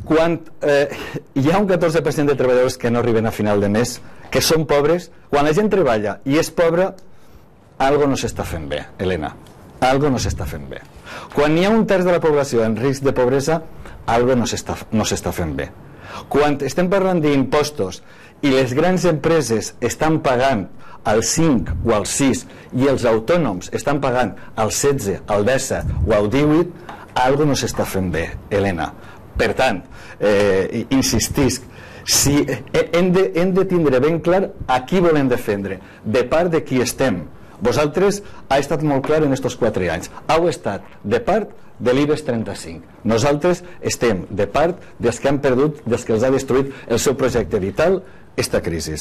quan hi ha un 14% de treballadors que no arriben a final de mes, que són pobres, quan la gent treballa i és pobra, algo no s'està fent bé, Helena, algo no s'està fent bé. Quan hi ha un terç de la població en risc de pobresa, algo no s'està fent bé. Quan estem parlant d'impostos i les grans empreses estan pagant al 5 o al 6 i els autònoms estan pagant al 16, al 17 o al 18, algo no s'està fent bé, Helena. Per tant, insistisc, si hem de tindre ben clar a qui volem defendre, de part de qui estem. Vosaltres ha estat molt clar en aquests 4 anys. Heu estat de part de l'IBEX 35. Nosaltres estem de part dels que han perdut, dels que els ha destruït el seu projecte vital, esta crisi.